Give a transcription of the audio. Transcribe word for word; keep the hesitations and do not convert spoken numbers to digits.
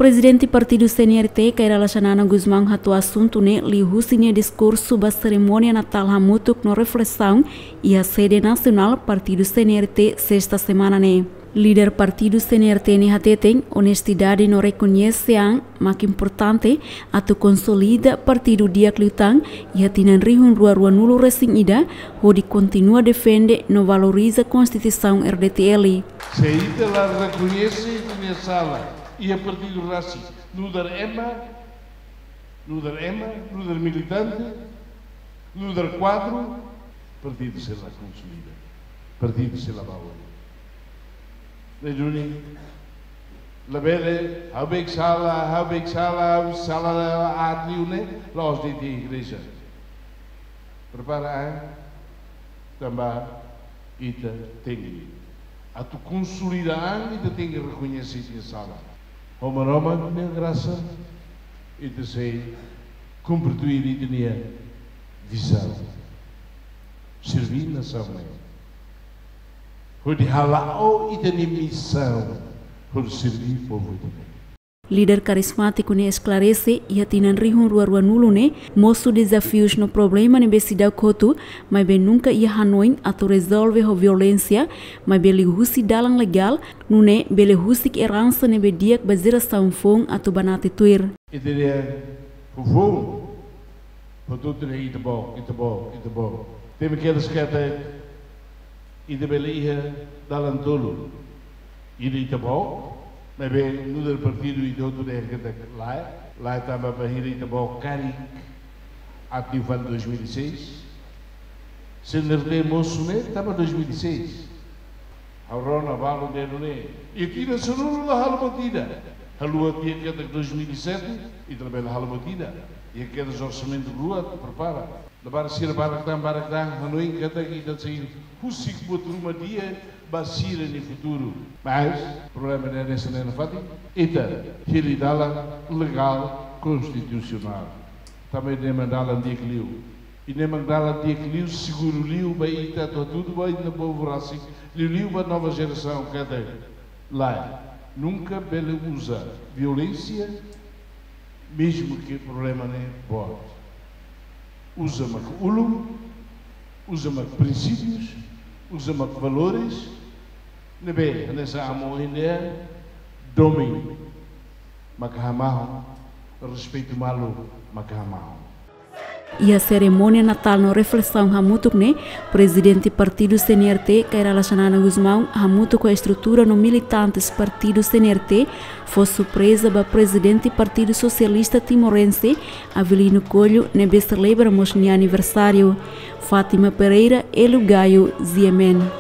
Prezidente Partidu C N R T, Kay Rala Xanana Gusmão, hato'o asuntu ne'e liuhusi nia diskursu ba serimónia Natál hamutuk no reflesaun iha sede nasionál Partidu C N R T, sesta semana ne'e. Líder Partidu C N R T ne'e hateten, onestidade no rekoñese an mak importante atu konsolida partidu di'ak liután iha tinan rihun rua ruanulu resin ida, hodi kontinua defende no valoriza Konstituisaun R D T L. Se ita la rekoñese ita-nia sala iha partidu rasik, nu'udar ema, nu'udar ema, nu'udar militante, nu'udar kuadru, partidu sei la konsolida, partidu sei la ba oin. Ne'e duni, labele, ha'u beik sala, ha'u beik sala, ha'u sala aat liu ne'e, la'ós de'it iha igreja. Prepara an, tanba ita tenke. Atu konsolida an, ita tenke rekoñese ita-nia sala. Ho Maromak nia grasa, ita sei kumpre tuir ita-nia vizaun. Serví nasaun ne'e. Hodi hala'o ita-nia misaun, hodi serví povu ita-nian. Líder karizmátiku ne'e esklarese, iha tinan rihun rua ruanulu ne'e, mosu dezafius no problema ne'ebé seidauk hotu, maibé nunka iha hanoin atu rezolve ho violénsia, maibé liuhusi dalan legál, nune'e bele husik eransa ne'ebé di'ak ba jerasaun foun atu banati tuir. Ita-nia foufoun, hotu-hotu dehan Ita-Boot, Ita-Boot, Ita-Boot. Temi kedas katak ita bele iha dalan tolu. Ida Ita-Boot, maibé nu'udar partidu ita hotu dehan katak lae, lae tanba bainhira Ita-Boot karik atu fali dois mil e seis. C N R T mosu ne'e tanba dois mil e seis. Ha'u rona balu dehan nune'e. Iha tinan sanulu la halo buat ida. Haluha tiha katak dois mil e sete, ita labele halo buat ida. Iha kedas orsamentu rua atu prepara. Labarik sira barak tan, barak tan, hanoin katak ita sei husik buat ruma di'ak ba sira-nia futuru. Mas, problema ne'e hanesan ne'e nafatin, ita hili dalan legál konstitusionál. Tanba ida-ne'e mak dalan di'ak liu. Ida-ne'e mak dalan di'ak liu, seguru liu ba ita atu hatudu ba ita-nia povu rasik, liuliu ba nova jerasaun katak lae, nunka bele uza violénsia, mezmu ke problema ne'e boot. Uza mak ulun, uza mak prinsípius, uza mak valores, ne'ebé hanesan amu ohin dehan, domin maka hamahon, respeitu malu maka hamahon. Iha serimónia Natál no reflesaun hamutuk ne'e, Prezidente Partidu C N R T, Kay Rala Xanana Gusmão, hamutuk ho estrutura no militantes Partidu C N R T, fó surpreza ba Prezidente Partidu Sosialista Timorense, Avelino Coelho, ne'ebé selebra mós nia aniversáriu. Fátima Pereira, Hélio Gaio, G M N.